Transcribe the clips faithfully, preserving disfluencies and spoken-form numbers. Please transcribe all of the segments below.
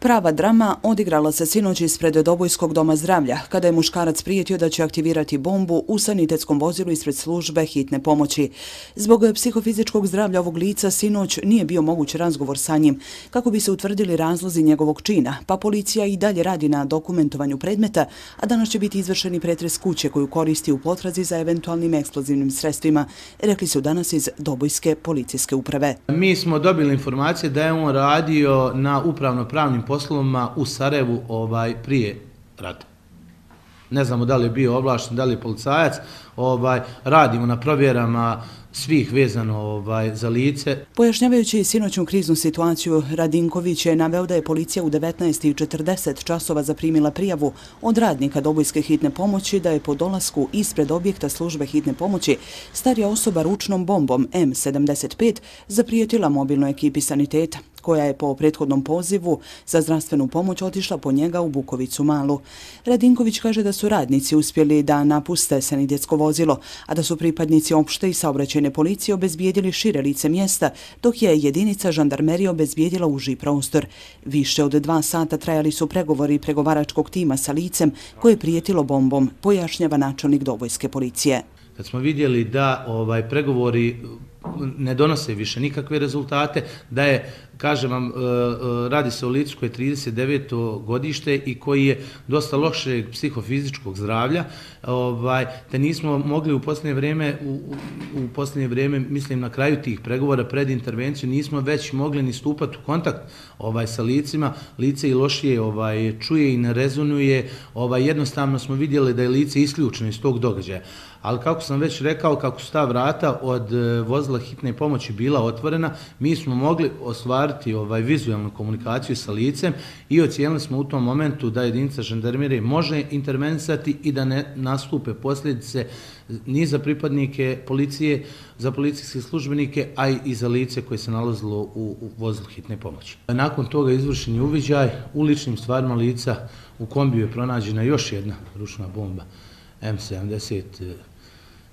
Prava drama odigrala se sinoć ispred Dobojskog doma zdravlja, kada je muškarac prijetio da će aktivirati bombu u sanitetskom vozilu ispred službe hitne pomoći. Zbog psihofizičkog zdravlja ovog lica sinoć nije bio moguć razgovor sa njim, kako bi se utvrdili razlozi njegovog čina, pa policija i dalje radi na dokumentovanju predmeta, a danas će biti izvršeni pretres kuće koju koristi u potrazi za eventualnim eksplozivnim sredstvima, rekli su danas iz Dobojske policijske uprave. Mi smo dobili informacije da je on radio na upravno-pravnim poslovima u Sarajevu ovaj, prije rata. Ne znamo da li je bio ovlašten, da li je policajac. Ovaj, radimo na provjerama svih vezano ovaj, za lice. Pojašnjavajući sinoćnu kriznu situaciju, Radinković je naveo da je policija u devetnaest i četrdeset časova zaprimila prijavu od radnika Dobojske hitne pomoći da je po dolasku ispred objekta službe hitne pomoći starija osoba ručnom bombom M sedamdeset pet zaprijetila mobilnoj ekipi saniteta, koja je po prethodnom pozivu za zdravstvenu pomoć otišla po njega u Bukovicu Malu. Radinković kaže da su radnici uspjeli da napuste sanitetsko vozilo, a da su pripadnici opšte i saobraćajne policije obezbijedili šire lice mjesta, dok je jedinica žandarmerije obezbijedila uži prostor. Više od dva sata trajali su pregovori pregovaračkog tima sa licem koje je prijetilo bombom, pojašnjava načelnik Dobojske policije. Kad smo vidjeli da ovaj, pregovori ne donose više nikakve rezultate, da je, kažem vam, radi se o licu koji je trideset deveto godište i koji je dosta lošeg psihofizičkog zdravlja, ovaj, te nismo mogli u posljednje vrijeme, u, u posljednje vrijeme, mislim na kraju tih pregovora pred intervenciju, nismo već mogli ni stupati u kontakt ovaj, sa licima. Lice i lošije ovaj, čuje i ne rezonuje, ovaj, jednostavno smo vidjeli da je lice isključeno iz tog događaja. Ali kako sam već rekao, kako su ta vrata od vozila hitne pomoći bila otvorena, mi smo mogli ostvariti ovaj, vizualnu komunikaciju sa licem i ocijenili smo u tom momentu da jedinica žandarmerije može intervenisati i da ne nastupe posljedice ni za pripadnike policije, za policijske službenike, a i za lice koje se nalazilo u, u vozilu hitne pomoći. Nakon toga izvršen je uviđaj u ličnim stvarima lica. U kombiju je pronađena još jedna ručna bomba M sedamdeset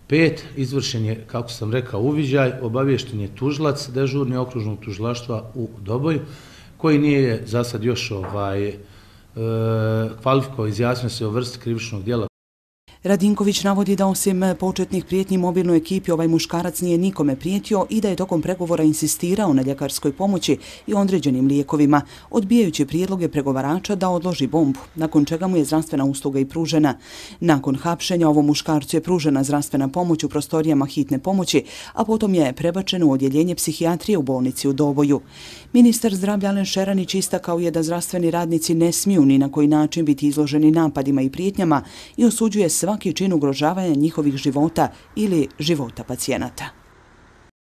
pet, izvršen je, kako sam rekao, uviđaj, obaviješten je tužilac dežurni okružnog tužilaštva u Doboju, koji nije za sad još ovaj, e, kvalifikao, izjasnio se o vrsti krivičnog djela. Radinković navodi da osim početnih prijetnji mobilnoj ekipi ovaj muškarac nije nikome prijetio i da je tokom pregovora insistirao na ljekarskoj pomoći i određenim lijekovima, odbijajući prijedloge pregovarača da odloži bombu, nakon čega mu je zdravstvena usluga i pružena. Nakon hapšenja ovom muškarcu je pružena zdravstvena pomoć u prostorijama hitne pomoći, a potom je prebačen u odjeljenje psihijatrije u bolnici u Doboju. Ministar zdravlja Alen Šeranić istakao je da zdravstveni radnici ne smiju ni na koji način biti izloženi napadima i prijetnjama i osuđuje svaki čin ugrožavanja njihovih života ili života pacijenata.